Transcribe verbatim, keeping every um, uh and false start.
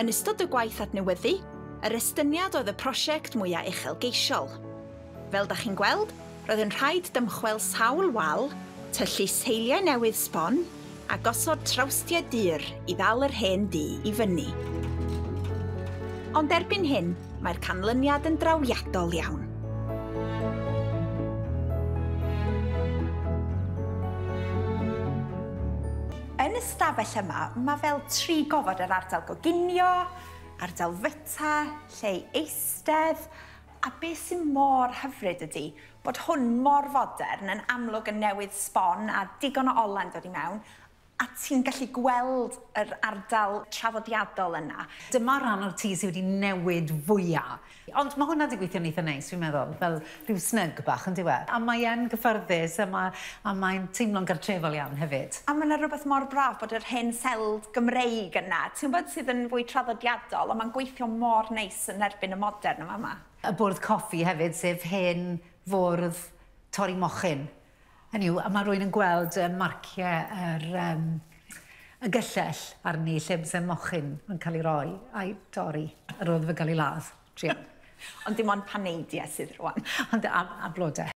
Yn ystod y gwaith adnewyddu, yr estyniad oedd y prosiect mwyaf uchelgeisiol. Fel da chi'n gweld, roedd yn rhaid dymchwel sawl wal, tyllu seiliau newydd sbon, a gosod trawstiau dur i ddal yr hen dŷ i fyny. Ond erbyn hyn, mae'r canlyniad yn drawiadol iawn. Yn y stafell yma, mae fel tri gofod yr ardal goginio, ardal fyta, lle i eistedd, a beth sy'n mor hyfryd ydy bod hwn mor fodern yn amlwg yn newydd sbon a digon o ole'n dod i mewn, a ti'n gallu gweld yr ardal traddodiadol yna. Dyma ran o'r tŷ sydd wedi newid fwyaf. Ond mae hwnna wedi gweithio'n eitha neis, fi'n meddwl, fel rhyw snug bach yn diwedd. A mae e'n gyffyrddus a, ma, a mae'n teimlo'n gartrefol iawn hefyd. A mae yna rhywbeth mor braf bod yr hen seld Gymreig yna, ti'n gwybod, sydd yn fwy traddodiadol, ond mae'n gweithio mor neis yn erbyn y modern yma yma. Y bwrdd coffi hefyd, sef hen fwrdd torri mochyn. Hynny yw, a mae rhywun yn gweld y marciau yr, um, y gyllell arni lle byse mochyn yn cael ei roi a'i dorri ar ôl iddo fe gael ei ladd. Druan. Ond dim ond paneidiau sydd rwan. Ond a, a blodau.